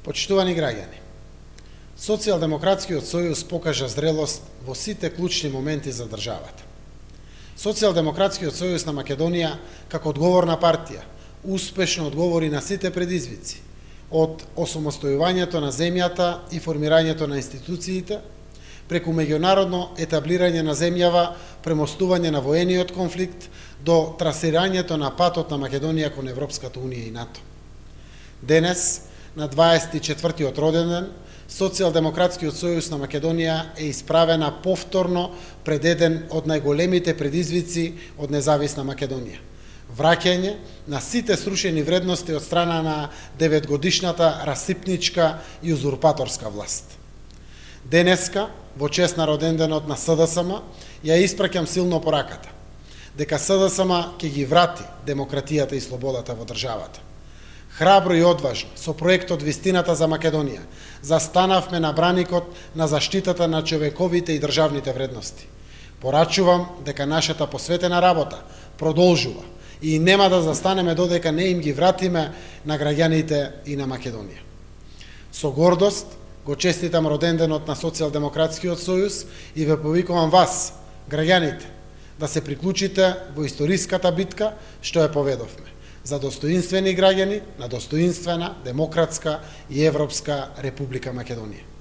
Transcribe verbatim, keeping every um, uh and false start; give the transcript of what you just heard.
Почитувани граѓани, Социјалдемократскиот сојуз покажа зрелост во сите клучни моменти за државата. Социјалдемократскиот сојуз на Македонија, како одговорна партија, успешно одговори на сите предизвици, од осамостојувањето на земјата и формирањето на институциите, преку меѓународно етаблирање на земјава, премостување на воениот конфликт, до трасирањето на патот на Македонија кон Европската унија и НАТО. Денес, на дваесет и четвртиот роден ден, Социјалдемократскиот сојуз на Македонија е исправена повторно пред еден од најголемите предизвици од независна Македонија. Враќање на сите срушени вредности од страна на деветгодишната расипничка и узурпаторска власт. Денеска, во чест на роденденот на СДСМ, ја испраќам силно пораката, дека СДСМ ќе ги врати демократијата и слободата во државата. Храбро и одважно, со проектот Вистината за Македонија, застанавме на браникот на заштитата на човековите и државните вредности. Порачувам дека нашата посветена работа продолжува и нема да застанеме додека не им ги вратиме на граѓаните и на Македонија. Со гордост го честитам роденденот на Социјалдемократскиот сојуз и ве повикувам вас, граѓаните, да се приклучите во историската битка што ја поведовме за достоинствени граѓани на достоинствена, демократска и европска Република Македонија.